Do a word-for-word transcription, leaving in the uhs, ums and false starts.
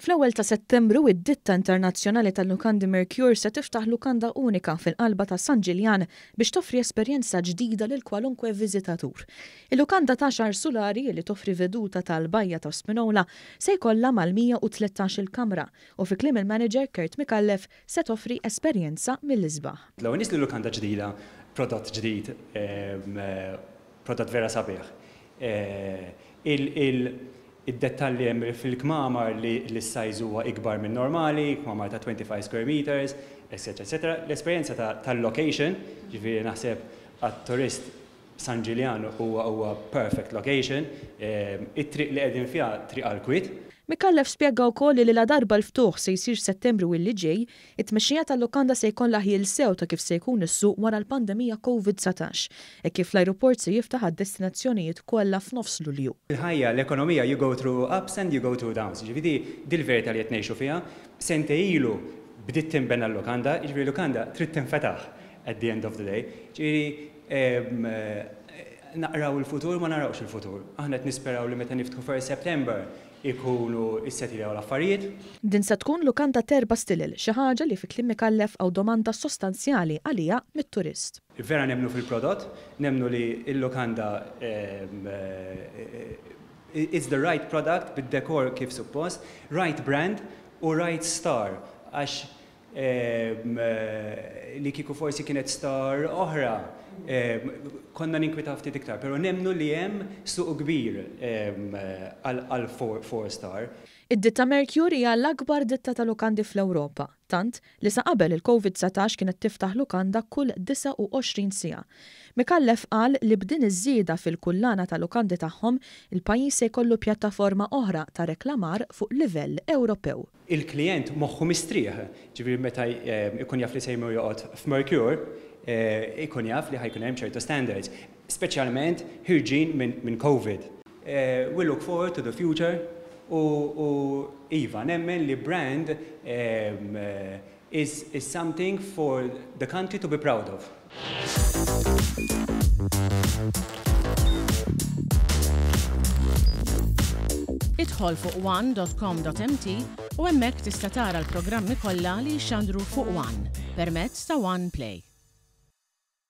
Fl-ewwel ta' Settembru, id-ditta internazzjonali tal-lukandi Mercure se tiftaħ lukanda unika fil-qalba ta' San Ġiljan biex toffri esperjenza ġdida lil kwalunkwe viżitatur. Il-lukanda ta' għaxar sulari li toffri veduta tal-bajja ta' Spinola se jkollha mal-mija u tlettax il-kamra u fi kliem il-manager Kurt Micallef se toffri esperjenza mill-isbaħ. L-ewwel nies li lukanda ġdida, prodott ġdid, prodott vera sabiħ. Id-dettalji hemm fil-kmamar li l-size huwa ikbar minn normali, kmamar ta' twenty-five square meters, eccetera, eccetera. L-esperjenza tal-location, ġifieri naħseb għat-turist San Ġiljan huwa huwa perfect location, it-triq li qegħdin fiha triq għall-kwiet. Micallef spjega wkoll li la darba l-ftuħ se jsir Settembru illi ġej, it-tmexxija tal-lukanda se jkollha ħjiel sew ta' kif se jkun is-suq wara l-pandemija Covid dsatax, e kif l-ajruport se jiftaħ għad-destinazzjonijiet kollha f'nofs Lulju. Il-ħajja, l-ekonomija, you go through ups and you go through downs. Ġifieri dil-verità li qed ngħixu fiha, sentejn ilu bdiet tinbena l-lukanda, ġifieri l-lukanda trid tinfetaħ at the end of the day. Ġifieri naqraw il-futur, ma narawx il-futur. Aħna qed nisperaw li meta niftħu first September ikunu issetiljaw l-affarijiet. Din se tkun lukanda t'erba' stilel, xi ħaġa li fi kliem Micallef hawn domanda sostanzjali għalija mit-turist. Vera nemnu fil-prodott, nemnu li l-lukanda it's the right product bid-dekor kif suppost, right brand u right star, għax li kieku forsi kienet star oħra, konna ninkwitaw ftit iktar, pero nemnu li hemm suq kbir għal four star. Id-ditta Mercure hija l-akbar ditta ta' lukandi fl-Ewropa, tant li sa qabel il-Covid dsatax kienet tiftaħ lukanda kull disgħa u għoxrin siegħa. Micallef qal li b'din iż-żieda fil-kullana ta' lukandi tagħhom, il-pajjiż se jkollu pjattaforma oħra ta' reklamar fuq livell Ewropew. Il-klient moħħu mistrieħ, ġifieri meta ikun jaf li se jmur joqgħod f'Mercure, ikun jaf li ħajkun hemm ċertu standards, speċjalment ħirġin minn Covid. We look forward to the future u iva, nemmen li brand is, is something for the country to be proud of. Idħol fuq one dot com dot m t u hemmhekk tista' tara l-programmi kollha li jxandru fuq One permezz ta' One Play.